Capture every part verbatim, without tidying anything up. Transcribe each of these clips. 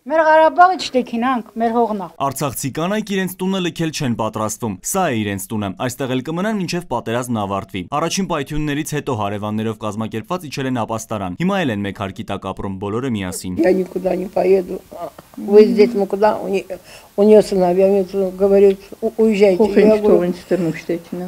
Մեր Ղարաբաղը չտեքինանք, մեր հողն է։ Արցախցի կանայք իրենց տունը լքել չեն պատրաստվում։ Սա է իրենց տունը։ Այստեղ էլ կմնան մինչև պատերազմն ավարտվի։ Առաջին պայթյուններից հետո հարևաններով կազմակերպված իջել են ապաստարան։ Հիմա էլ են մեկ հարկի տակ ապրում բոլորը միասին։ Я никуда не поеду. Вы здесь, мы куда? У нее сыновья говорят, уезжайте.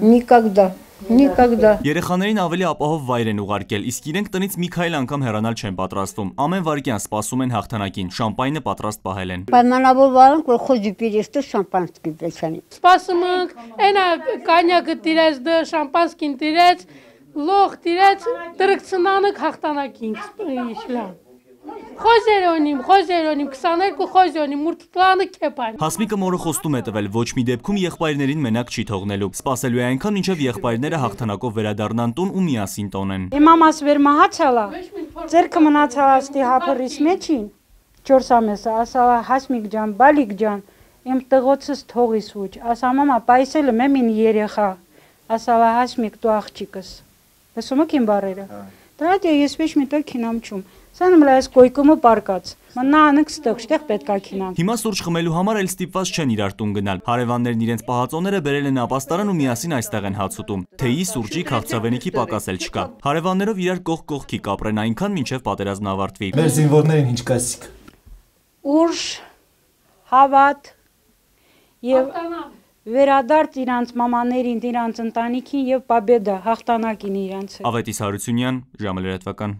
Никогда. Никогда. Երեխաներին ավելի ապահով վայր են ուղարկել, իսկ իրենք տնից մի քայլ անգամ հեռանալ չեն պատրաստվում։ Ամեն վայրկյան սպասում են հաղթանակին, շամպայնը պատրաստ պահել են։ Պայմանավորվանք, որ խոզի պիրեստը շամպանսկի բեչանի։ Սպասում ենք, այնա կանյակը տիրեց, դը շամպանսկին տիրեց, լող տիրեց, տրկցնանք հաղթանակին, իշլան։ Խոզերոնիմ, խոզերոնիմ, քսաներկու խոզերոնիմ, մուրտլանը կեպան։ Հասմիկը մորը խոստում է տվել ոչ մի դեպքում եղբայրներին մենակ չի թողնելու։ Սպասելու է այնքան, մինչև եղբայրները հաղթանակով վերադառնան տուն ու միասին տոնեն։ Իմ մամաս վեր մահացալա, ձերքը մնացալ աստի հապրիս մեջին, չորս ամեսը, ասալա Հասմիկ ջան, բալիկ ջան, իմ տղոցս թողիս ուչ, ասա մամա, պայսելը մեմին երեխա, ասալա Հասմիկ դու աղջիկս, լսում եք իմ բարերը, դրադյա ես վեչ մի տեղ քինամ չում, սանմ լայս կոյկումը պարկած, մնա անք ստեղ, շտեղ պետք է քինամ։ Հիմա սուրճ խմելու համար էլ ստիպված չեն իրար տուն գնալ։ Հարևաններն իրենց պահածոները բերել են ապաստարան ու միասին այստեղ են հաց ուտում։ Թեյի, սուրճի, քաղցրավենիքի պակաս էլ չկա։ Հարևաններով իրար կողք կողքի կապրեն այնքան, մինչև պատերազմն ավարտվի։ Մեր զինվորներին ինչ կասիք։ Ուժ, հավատ եւ վերադարձ իրանց մամաներին, իրանց ընտանիքին եւ պաբեդա հաղթանակին իրանց։ Ավետիս Հարությունյան, ժամը լրատվական։